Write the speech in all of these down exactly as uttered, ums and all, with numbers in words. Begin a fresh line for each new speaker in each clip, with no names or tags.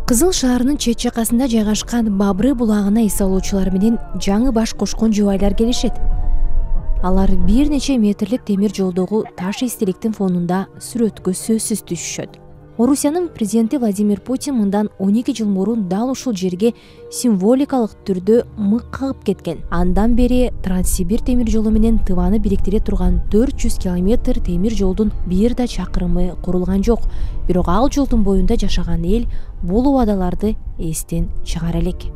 Кызыл шаарынын чет жакасында жайгашкан Бабры булагына эс алуучулар менен жаңы баш кошкон жубайлар келишет. Алар бир нече метрлик темир жолдогу таш эстеликтин фонунда сүрөткө сөзсүз түшүшөт. Орусиянын президенти Владимир Путин мындан он эки жыл мурун дал ушул жерге символикалык түрдө мык кагып кеткен. Андан бери Транссибир темир жолу менен Тываны бириктире турган төрт жүз километр темир жолдун бир да чакырымы курулган жок. Бирок ал жолдун боюнда жашаган эл бул убадаларды эстен чыгара элек.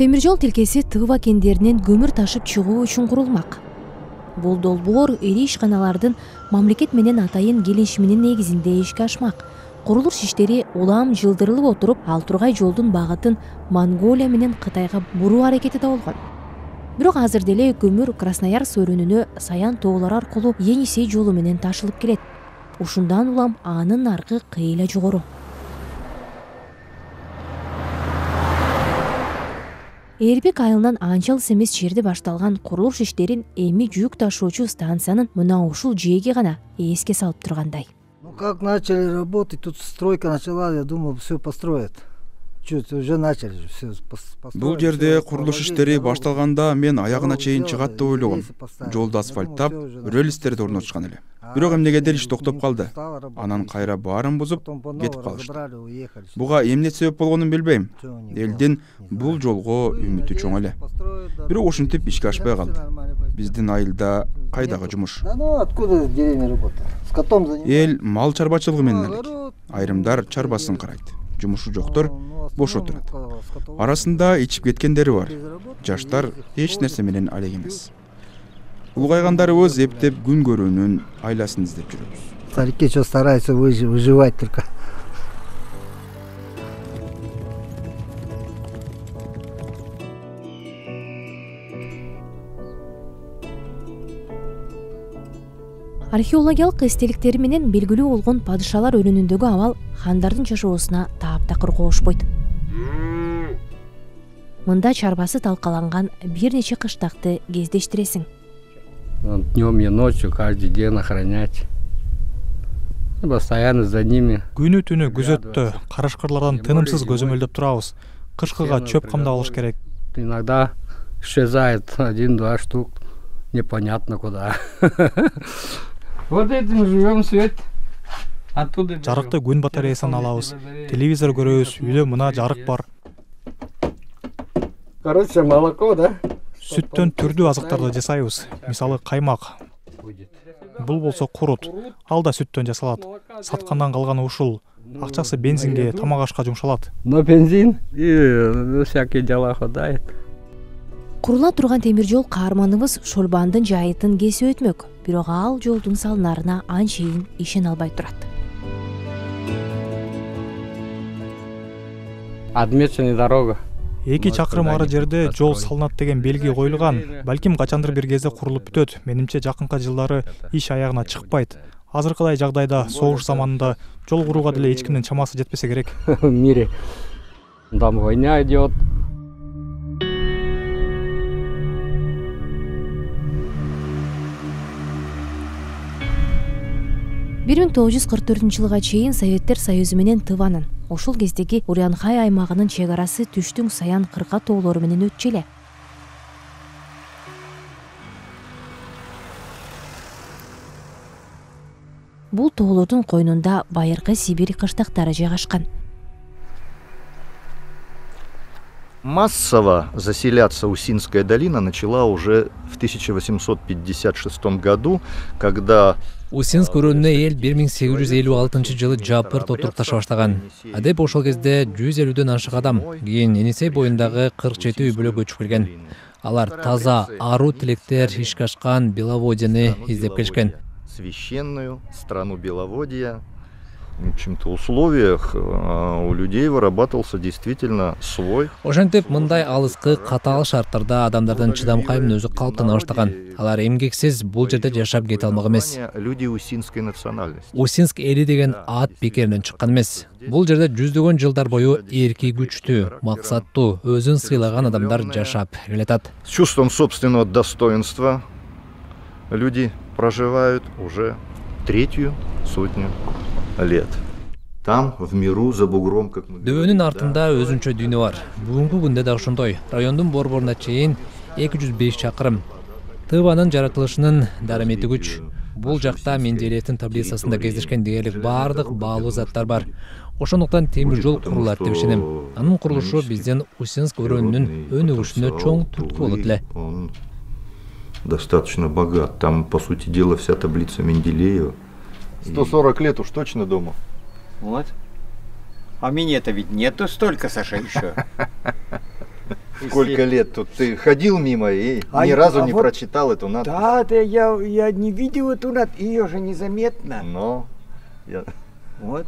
Темир жол тилкеси Тыва кендеринен көмүр ташып чыгуу үчүн курулмак. Бул долбоор ири ишканалардын мамлекет менен атайын келишиминин негизинде ишке ашмак. Курулуш иштери улам жылдырылып отуруп, ал тургай жолдун багытын Монголия менен Кытайга буруу аракети да болгон. Бирок азыр деле көмүр Красноярск өрүнүнө Саян тоолору аркылуу Енисей жолу менен ташылып келет. Ушундан улам анын наркы кыйла жогору. Эрбек айылынан анча алыс эмес жерде башталган курулуш иштерин эми жүк ташуучу станциянын мына ушул жээги гана эске салып тургандай.
Ну как начали работать, тут стройка начала, я думал, все построят. Чуть уже начали все построить.
Бул жерде курулуш иштери башталганда мен аягына чейин чыгат деп ойлогом. Жолду асфальттап, рельстерди орнотушкан эле. Бирок эмнегедир иш токтоп калды. Анан кайра баарын бузуп кетип калышты. Буга эмне себеп болгонун билбейм. Элдин бул жолго үмүтү чоң эле. Бирок ушинтип ишке ашпай калды. Биздин айылда кайдагы жумуш? Эл мал чарбачылыгы менен элек. Айрымдар чарбасын карайт. Жумушу жоктор бош отурат. Арасында ичип кеткендери бар. Жаштар эч нерсе менен алек эмес. Улгайгандарыбыз эптеп күн көрүүнүн айласын издеп жүрөбүз.
Старики что стараются выживать только.
Археологиялык эстеликтери менен белгилүү болгон падышалар өрүнүндөгү абал хандардын жашоосуна таап-такыр кошпойт. Мында чарбасы талкаланган бир нече кыштакты кездештиресиң.
Днем и ночью каждый день охранять. Постоянно за ними.
Күнү түнү күзөттө, карашкырлардан тынымсыз көзөмөлдөп турабыз. Кышкыга чөп камдап алыш керек.
Иногда исчезает один-два штук, непонятно куда. Вот этим живем, свет. Оттуда.
Жарыкты күн батареясынан алабыз. Телевизор көрөбүз, үйдө мына жарык бар.
Короче, молоко, да?
Сүттөн түрдүү азыктарды жасайбыз. Мисалы каймак. Бул болсо курут. Ал да сүттөн жасалат. Саткандан калганы ушул. Акчасы бензинге, тамак ашка жумшалат.
Но бензин и всякие дела хватает.
Курула турган темир жол каарманыбыз Шолбандын жайытын кесип өтмөк. Бирок ал жолдун салынарына анчейин ишене албай турат.
Отмеченная дорога.
Эки чакырым ары жерде жол салынат деген белги коюлган. Балким качандыр бир кезде курулуп бүтөт. Менимче жакынкы жылдары иш аягына чыкпайт. Азыркыдай жагдайда согуш заманында жол курууга деле эч кимдин чамасы жетпесе керек.
В мире там война идет.
бир миң тогуз жүз кырк төртүнчү жылга чейин Советтер Союзу менен Тыванын, ошол кездеги Урянхай аймагынын чек арасы түштүң Саян кырка тоолору менен өтчү эле. Бул тоолордун койнунда байыркы Сибирь кыштактары жайгашкан.
Массово заселяться Усинская долина начала уже в тысяча восемьсот пятьдесят шестом году, когда
Усинск өрөөнүнө эл бир миң сегиз жүз элүү алтынчы жылы жапыр отуруп таша баштаган. Адеп ошол кезде жүз элүүдөн ашык адам, кийин Енисей боюндагы кырк жети үй бүлө көчүп келген. Алар таза, аруу тилектер ишке ашкан Беловодьены издеп келишкен.
Священную страну Беловодья. В общем-то, условиях у людей вырабатывался действительно свой.
Ошентип мындай алыскы катаал шарттарда адамдардын чыдамкайымын өзү калыптана баштаган. Алар эмгексиз бул жерде жашап кете алмак эмес.
Люди усинской национальности.
Усинск эли деген ат бекеринен чыккан эмес. Бул жерде жүздөгөн жылдар бою эрки күчтүү, максаттуу, өзүн сыйлаган адамдар жашап келатат.
С чувством собственного достоинства, люди проживают уже третью сотню лет. Там, в миру, за бугром, как мы говорим.
Дөбөнүн артында өзүнчө дүйнө бар. Бүгүнкү күндө да ошондой. Райондун борборуна чейин эки жүз беш чакырым. Тыбанын жаратылышынын дарамети күч. Бул жакта Менделеевдин таблицасында кездешкен дээрлик баардык баалуу заттар бар. Ошондуктан темир жол курулат деп ишенем. Анын курулушу биздин Усинск өрөөнүнүн өнүгүшүнө чоң түрткү болот эле.
Он достаточно богат. Там, по сути дела, вся таблица Менделеева. сто сорок лет уж точно дома.
Вот. А мне-то ведь нету столько, Саша, еще.
Сколько лет тут? Ты ходил мимо и
а
ни разу
а
не
вот
прочитал эту надпись?
Да, да, я, я не видел эту надпись, ее же незаметно.
Но я...
Вот.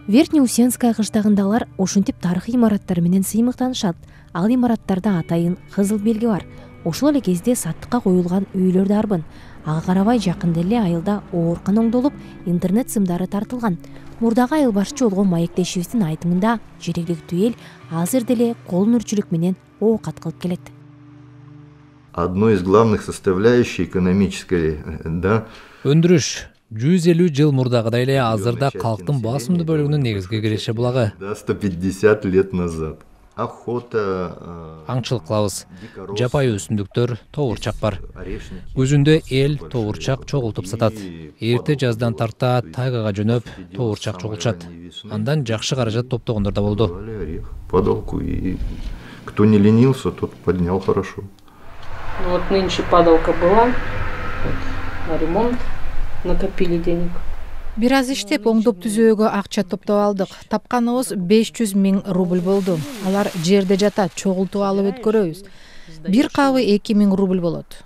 Верхний Усенская кыштагындагылар ушинтип тарыхый имараттар менен сыймыктанышат. Ал имараттарда атайын кызыл белги бар. Ошол эле кезде саттыкка коюлган үйлөр да арбын. Ага карабай жакында эле айылда оорукана оңдолуп, интернет сымдары тартылган. Мурдагы айыл башчы болгон маектешибиздин айтымында жергиликтүү эл азыр деле кол өнөрчүлүк менен оокат кылып келет.
Одной из главных составляющих экономической, да,
Өндүрүш жүз элүү жыл мурдагыдай эле азырда калктын басымдуу бөлүгүнүн негизги киреше булагы.
Да, сто пятьдесят лет назад. Охота,
Аңчылык кылабыз. Жапайы өсүмдүктөр, тоорчак бар. Күзүндө эл тоорчак чогултуп сатат. Эрте жаздан тарта тайгага жөнөп тоорчак чогулчат. Андан жакшы каражат топтогондор да болду.
Падалку, и кто не ленился, тот поднял хорошо.
Вот нынче падалка была, вот, на ремонт накопили денег.
Бир аз иштеп оңдоп түзөөгө акча топтоп алдык. Тапканыбыз беш жүз миң рубль болду. Алар жерде жатат, чогултуп алып өткөрөбүз. Бир кабы эки миң рубль болот.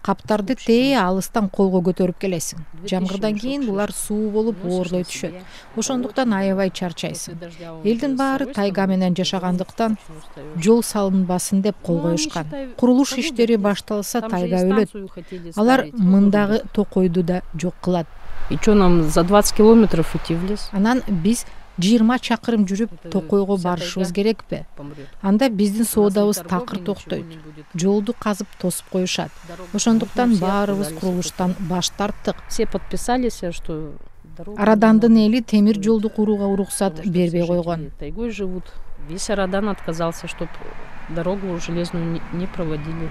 Каптарды тээ алыстан колго көтөрүп келесиң. Жамгырдан кийин булар суу болуп оорлой түшөт. Ошондуктан аябай чарчайсың. Элдин баары тайга менен жашагандыктан жол салынбасын деп кол коюшкан. Курулуш иштери башталса тайга өлөт. Алар мындагы токойду да жок кылат.
И что нам за двадцать километров идти в лес?
Анан биз жыйырма чакырым жүрүп Токойго барышыбыз керекпи? Анда биздин соодабыз такыр токтойт. Жолду казып тосуп коюшат. Ошондуктан баарыбыз курулуштан баш тарттык.
Все подписались, что
Арадандын эли темир жолду курууга уруксат бербей койгон.
Тайгой живут. Весь Арадан отказался, чтобы дорогу железную не проводили.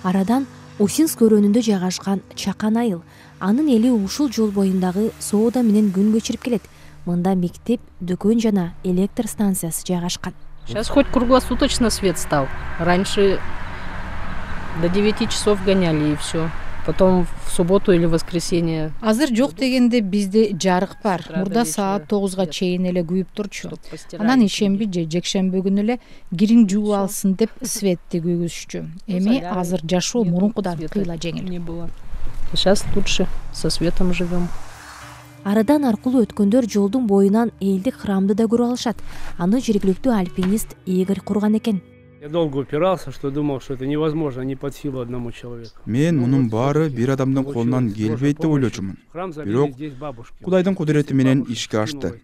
Арадан Усинск өрөөнүндө жайгашкан Чакан айыл. Анын эли ушул жол боюндагы соода менен күн көчүрүп келет. Мында мектеп, дүкөн жана электр станциясы жайгашкан.
Сейчас хоть круглосуточно свет стал. Раньше до девяти часов гоняли и все. Потом в субботу или воскресенье.
Азыр жок дегенде бизде жарык бар. Мурда саат тогузга чейин эле күйүп турчу. Анан ишемби же жекшемби күнү эле кириң жууп алсын деп светти күйгүзчү. Эми азыр жашоо мурункудан кыйла жеңил.
Сейчас лучше со светом живем.
Арадан аркылуу өткөндөр жолдун боюнан элдик храмды да көрүп алышат. Аны жергиликтүү альпинист Игорь курган экен.
Я долго упирался, что думал, что это невозможно, не под силу одному человеку.
Мен мунун баары бир адамдын колунан келбейт деп ойлочумун. Бирок Кудайдын кудурети менен ишке ашты.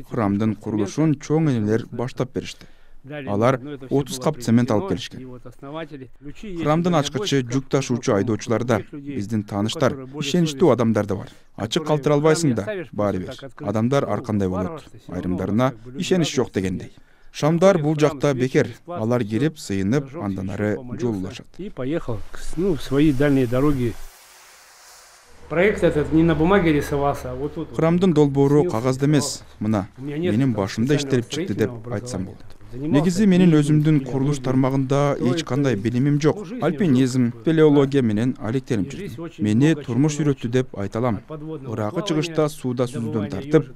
Храмдын курулушун чоң энелер баштап беришти. Алар отуз кап цемент алып келишкен. Храмдын ачкычы, жүк ташуучу айдоочулар да, биздин тааныштар, ишеничтүү адамдар да бар. Ачык калтыра албайсың да, баары бир. Адамдар ар кандай болот. Айрымдарына ишенич жок дегендей. Шамдар бул жакта бекер. Алар келип, сыйынып, андан ары жол улашат.
И поехал, ну, в свои дальние дороги. Проект этот не на бумаге рисовался, а вот тут.
Храмдын долбоору кагазда эмес, мына, менин башымда иштелип чыкты деп айтсам болот. Негизи менин өзүмдүн курулуш тармагында эч кандай билимим жок. Альпинизм, спелеология менен алектенип жүрдүм. Мени турмуш үйрөттү деп айта алам. Ыракы чыгышта сууда сүзүүдөн тартып,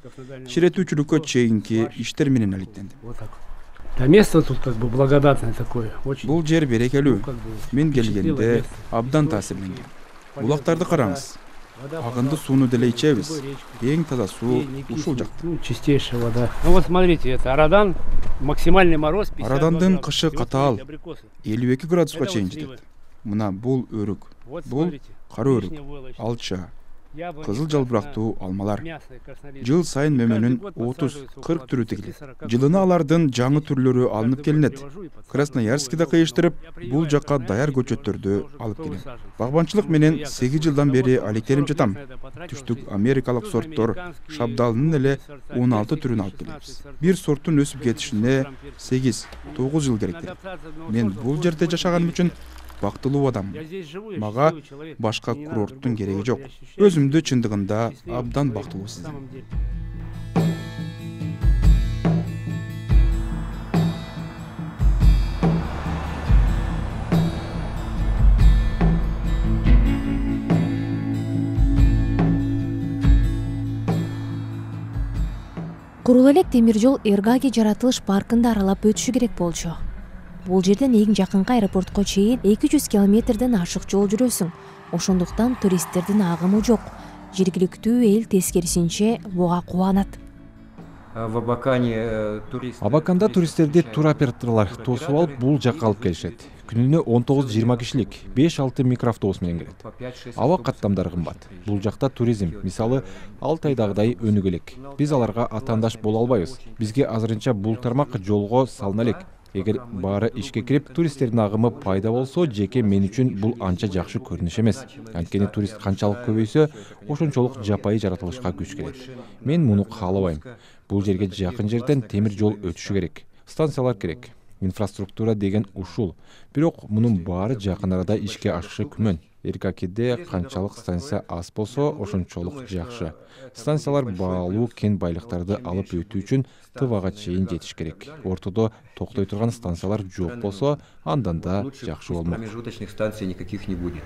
ширетүүчүлүккө чейинки иштер менен алектендим.
Да, место тут как бы благодатное такое.
Бул жер берекелүү. Мен келгенде абдан таасирленгем. Булактарды караңыз. Агынды сууну деле ичебиз. Эң таза суу ушул жакта.
Чистейшая вода. Ну вот смотрите, это Арадан, максимальный мороз.
Арадандын кышы катаал, элүү эки градуска чейин жетет. Мына бул өрүк, бул кара өрүк, алча, кызыл жалбырактуу алмалар. Жыл сайын мөмөнүн отуз кырк түрү тигилет. Жылына алардын жаңы түрлөрү алынып келинет. Красноярскиде кыйыштырып, бул жакка даяр көчөттөрдү алып келем. Багбанчылык менен сегиз жылдан бери алектенип жатам. Түштүк америкалык сорттор шабдалынын эле он алты түрүн алып келебиз. Бир сорттун өсүп кетишине сегиз тогуз жыл керектир. Мен бул жерде жашаганым үчүн бактылуу адаммын. Мага башка курорттун кереги жок. Өзүмдү чындыгында абдан бактылуу сезинем.
Курул элек темир жол Эргаги жаратылыш паркында аралап өтүшү керек болчу. Бул жерден эң жакынкы аэропортко чейин эки жүз километрден ашык жол жүрөсүң. Ошондуктан туристтердин агымы жок. Жергиликтүү эл тескерисинче буга кубанат.
Абаканда туристтерди туроператорлор тосуп алып бул жакка алып келишет. Күнүнө он тогуз жыйырма кишилик беш алты микроавтобус менен келет. Аба каттамдары кымбат. Бул жакта туризм, мисалы, Алтайдагыдай өнүгө элек. Биз аларга атаандаш боло албайбыз. Бизге азырынча бул тармак жолго салына элек. Эгер баары ишке кирип, туристтердин агымы пайда болсо, жеке мен үчүн бул анча жакшы көрүнүш эмес. Анткени турист канчалык көбөйсө, ошончолук жапайы жаратылышка күч келет. Мен муну каалабайм. Бул жерге жакын жерден темир жол өтүшү керек. Станциялар керек. Инфраструктура деген ушул. Бирок мунун баары жакын арада ишке ашышы күмөн. Эргакиде канчалык станция аз болсо, ошончолук жакшы. Станциялар баалуу кен байлыктарды алып өтүү үчүн Тывага чейин жетиш керек. Ортодо токтой турган станциялар жок болсо, андан да жакшы болмок.
Промежуточных станций никаких не будет.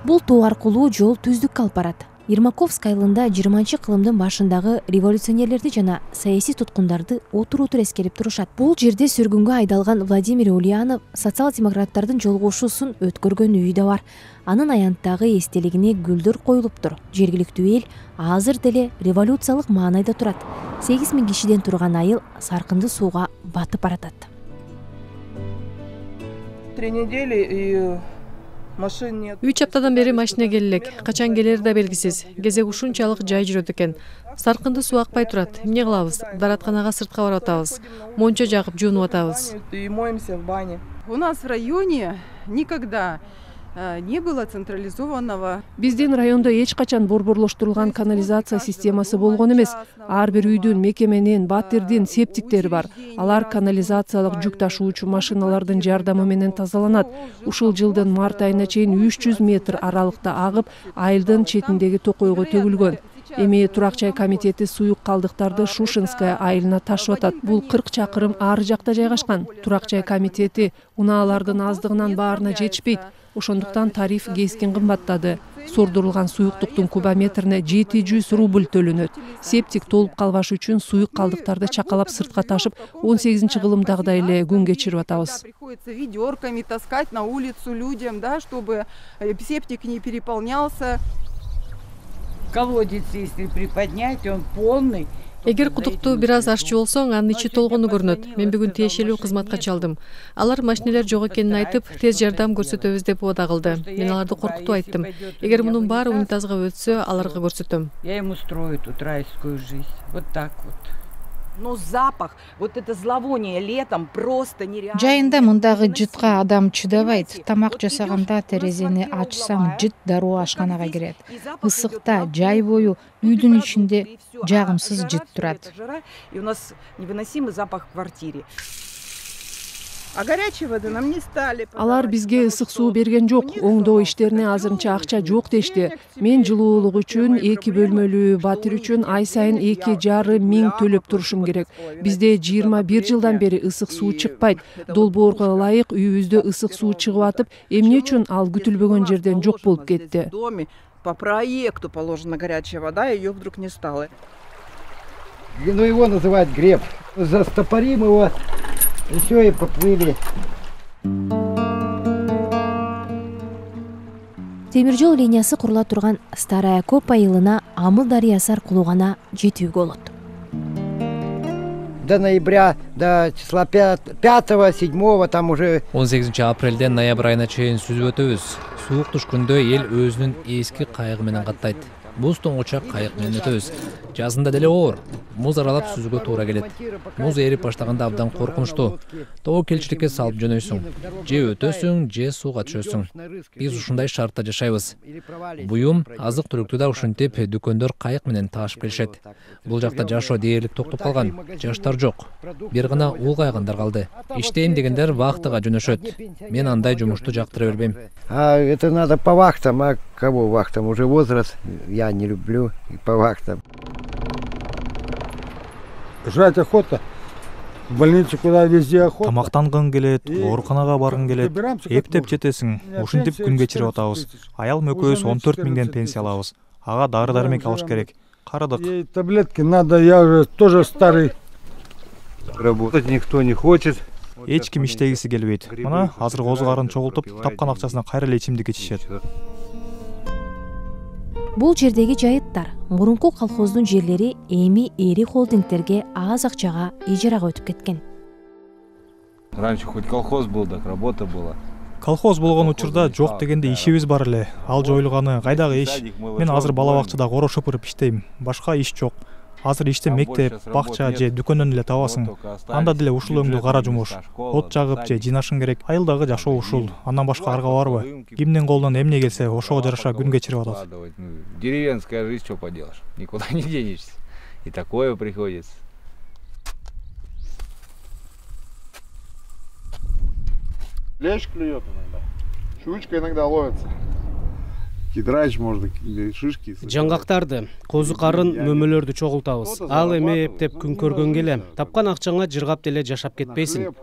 Бул тоо аркылуу жол түздүккө алып барат. Ермаковск айылында жыйырманчы кылымдын башындагы революционерлерди жана саясий туткундарды отур-отур эскерип турушат. Бул жерде сөргүнгө айдалган Владимир Ульянов социал-демократтардын жолгошуусун өткөргөн үйү да бар. Анын аянттагы эстелигине гүлдөр коюлуптур. Жергиликтүү эл азыр деле революциялык маанайда турат. сегиз миң кишиден турган айыл саркынды сууга батып баратат.
Три недели и
үч аптадан бери машина келе элек. Качан келери да белгисиз. Кезек ушунчалык жай жүрөт экен. Саркынды суу акпай турат. Эмне кылабыз? Дааратканага сыртка барып атабыз. Мончо жагып жуунуп атабыз.
У нас в районе никогда не было централизованного.
Биздин райондо эч качан борборлоштурулган канализация системасы болгон эмес. Ар бир үйдүн, мекеменин, батирдин септиктери бар. Алар канализациялык жүк ташуучу машиналардын жардамы менен тазаланат. Ушул жылдын март айына чейин үч жүз метр аралыкта агып, айылдын четиндеги токойго төгүлгөн. Эми Турак жай комитети суюк калдыктарды Шушинская айылына ташып атат. Бул кырк чакырым ары жакта жайгашкан. Турак жай комитети унаалардын аздыгынан баарына жетишпейт. Ошондуктан тариф кескин кымбаттады. Сордурулган суюктуктун кубометрине жети жүз рубль төлөнөт. Септик толуп калбаш үчүн суюк калдыктарды чакалап сыртка ташып, он сегизинчи кылымдагыдай эле күн кечирип атабыз.
Приходится ведерками таскать на улицу людям, да, чтобы септик не переполнялся.
Колодец, если приподнять, он полный.
Эгер кудукту бир аз аччы болсоң, анын ичи толгону көрүнөт. Мен бүгүн тиешелүү кызматка чалдым. Алар машинелер жок экенин айтып, тез жардам көрсөтөбүз деп убада кылды. Мен аларды коркутуп айттым. Эгер мунун баары унитазга өтсө, аларга көрсөтөм.
Я им устрою тут райскую жизнь. Вот так вот.
Но запах, вот это зловоние летом просто нереально.
Жайында мындагы жытка адам чыдабайт. Тамак жасаганда терезени ачсаң, жыт дароо ашканага кирет. Ысыкта жай бою үйдүн ичинде жагымсыз жыт турат.
И у нас невыносимый запах в квартире.
А горячей воды нам не стали.
Алар бизге ысык суу берген жок. Оңдоо иштерине азырынча акча жок дешти. Мен жылуулук үчүн эки бөлмөлүү батир үчүн ай сайын эки жарым миң төлөп турушум керек. Бизде жыйырма бир жылдан бери ысык суу чыкпайт. Долбоорго ылайык үйүбүздө ысык суу чыгып атып, эмне үчүн ал күтүлбөгөн жерден жок болуп кетти?
По проекту положена горячая вода, ее вдруг не стало.
Ну его называют греб. Застопорим его. И все, и поплыли.
Темир жол линиясы курула турган Старая Коп айылына Амыл дарыясы аркылуу гана жетүүгө болот.
До ноября, до числа пятого, седьмого там уже.
он сегизинчи апрелден ноябрь айына чейин сүзүп өтөбүз. суук түшкөндө эл өзүнүн эски кайыгы менен каттайт. Муз тоңочак кайык менен өтөбүз. Жазында деле оор. Муз аралап сүзүүгө туура келет. Муз эрип баштаганда абдан коркунучтуу. Тобокелчиликке салып жөнөйсүң. Же өтөсүң, же сууга түшөсүң. Биз ушундай шартта жашайбыз. Буюм, азык-түлүктү да ушинтип дүкөндөр кайык менен таашып келишет. Бул жакта жашоо дээрлик токтоп калган. Жаштар жок. Бир гана улгайгандар калды. Иштейм дегендер вахтага жөнөшөт. Мен андай жумушту жактыра бербейм.
А это надо по вахтам, а кого вахтам? Уже возраст. Я не люблю и по вахтам.
Жрать охота. В больницу куда везде охота.
Тамактангың келет, ооруканага баргың келет. Эптеп жетесиң. Ушинтип күн кечирип атабыз. Аялым экөөбүз он төрт миңден пенсия алабыз. Ага дары-дармек алыш керек. Карадык.
Таблетки надо, я уже тоже старый.
Работать никто не хочет.
Эч ким иштегиси келбейт. Мына азыр козу карын чогултуп, тапкан акчасына кайра эле ичимдик ичишет.
Бул жердеги жайыттар мурунку колхоздун жерлери эми эри холдингтерге аз акчага ижарага өтүп кеткен.
Раньше хоть колхоз был, так работа была.
Колхоз болгон учурда жок дегенде ишибиз бар эле. Ал жоюлганы кайдагы иш? Мен азыр бала бакчада коро шопуруп иштейм. Башка иш жок. Азыр ишти мектеп, бакча же дүкөндөн эле табасың. Анда деле ушул өңдүү кара жумуш. От жагып же жыйнашың керек. Айылдагы жашоо ушул. Андан башка арга барбы? Кимдин колунан эмне келсе, ошого жараша күн кечирип атат.
Деревенская жизнь, что поделаешь? Никуда не денешься. И такое приходится.
Лещ клюет иногда. Щучка иногда ловится. Кидрач можно или шишки.
Жаңгактарды, козу карын, мөмөлөрдү чогултабыз. Ал эме эптеп күн көргөн келе. Тапкан акчаңа жыргап деле жашап кетпейсиң.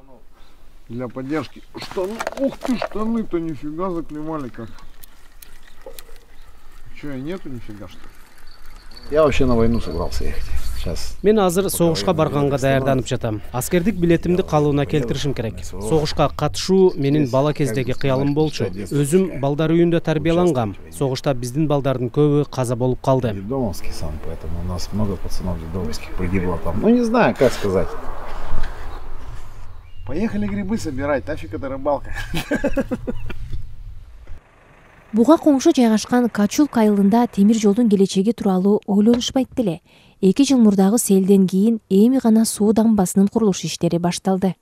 Для поддержки. Штаны, ух ты, штаны-то нифига заклемали как. Че, нету нифига что?
Я вообще на войну собрался ехать. Сейчас.
Мен азыр согушка барганга даярданып жатам. Аскердик билетимди калыбына келтиришим керек. Согушка катышуу менин бала кездеги кыялым болчу. Өзүм балдар үйүндө тарбиялангам. Согушта биздин балдардын көбү каза болуп калды.
Домовский сан, поэтому у нас много пацанов домовских погибло там. Ну не знаю, как сказать.
Поехали грибы собирать, тафик это рыбалка.
Буга коңшу жайгашкан Качулк айылында темир жолдун келечеги тууралуу ойлонушпайт деле. Эки жыл мурдагы селден кийин эми гана суу дамбасынын курулуш иштери башталды.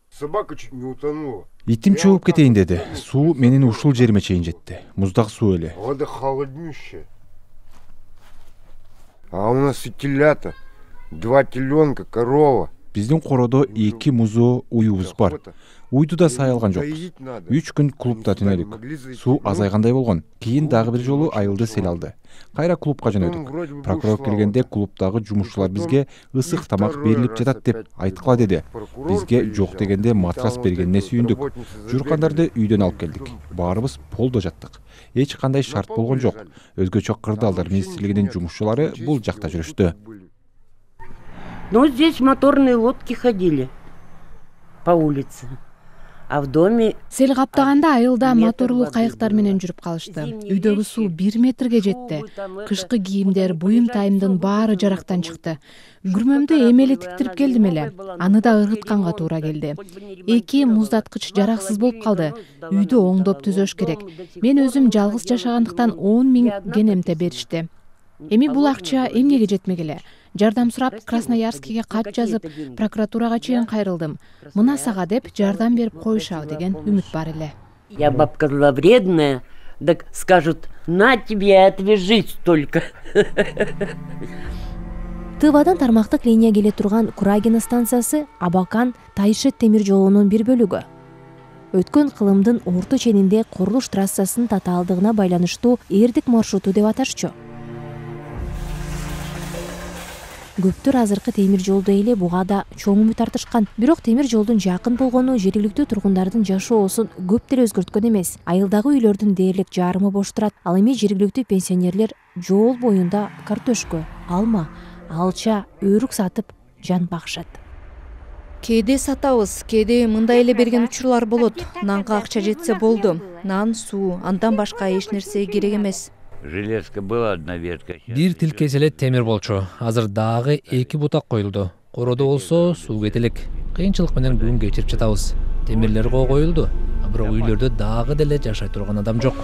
Собака чуть не утонула.
Итим чөгүп кетейин деди. Суу менин ушул жериме чейин жетти. Муздак суу эле.
Вода холоднющая. А у нас и телята, два теленка, корова.
Биздин коrodо эки музоо уюбуз бар. Уйду да сай алган жокпуз. үч күн клубда түнөдүк. Суу азайгандай болгон. Кийин дагы бир жолу айылды сел алды. Кайра клубка жөнөдүк. Прокурор келгенде клубдагы жумушчулар бизге ысык тамак берилип жатат деп айткыла деди. Бизге жок дегенде матрас бергенине сүйүндүк. Журкандарды үйдөн алып келдик. Баарыбыз полдо жаттык. Эч кандай шарт болгон жок. Өзгөчө кырдаалдар министрлигинин жумушчулары бул жакта жүрүштү.
Ну, здесь моторные лодки ходили по улице. А в доме
сел каптаганда айылда моторлуу кайыктар менен жүрүп калышты. Үйдөгү суу бир метрге жетти. Кышкы кийимдер, буюм тайымдын баары жарактан чыкты. Күрмөмдү эмели тиктирип келдим эле. Аны да ыргытканга туура келди. Эки муздаткыч жараксыз болуп калды. Үйдү оңдоп түзөш керек. Мен өзүм жалгыз жашагандыктан он миң генемте беришти. Эми бул акча эмнеге жетмек эле? Жардам сурап Красноярскиге кат жазып, прокуратурага чейин кайрылдым. Мына сага деп жардам берип коюшабы деген үмүт бар эле.
Я бабка зловредная, так скажут: "На тебе и отвяжись только".
Тывадан тармактык линия келе турган Курагина станциясы Абакан Тайшет темир жолунун бир бөлүгү. Өткөн кылымдын орто ченинде курулуш трассасынын татаалдыгына байланыштуу эрдик маршруту деп аташчу. Көптөр азыркы темир жолду эле буга да чоң үмүт артышкан. Бирок темир жолдун жакын болгону жергиликтүү тургундардын жашоосун көп деле өзгөрткөн эмес. Айылдагы үйлөрдүн дээрлик жарымы бош турат. Ал эми жергиликтүү пенсионерлер жол боюнда картошка, алма, алча, өрүк сатып жан багышат.
Кээде сатабыз, кээде мындай эле берген учурлар болот. Нанга акча жетсе болду. Нан, суу, андан башка эч нерсе керек эмес.
Железка была одна ветка. Бир тилкес эле темир болчу. Азыр дагы эки бутак коюлду. Коrodо болсо суу кетелек. Кыйынчылык менен күн кечирип жатабыз. Темирлер коюлду. бирок үйлөрдө дагы деле жашай турган адам жок.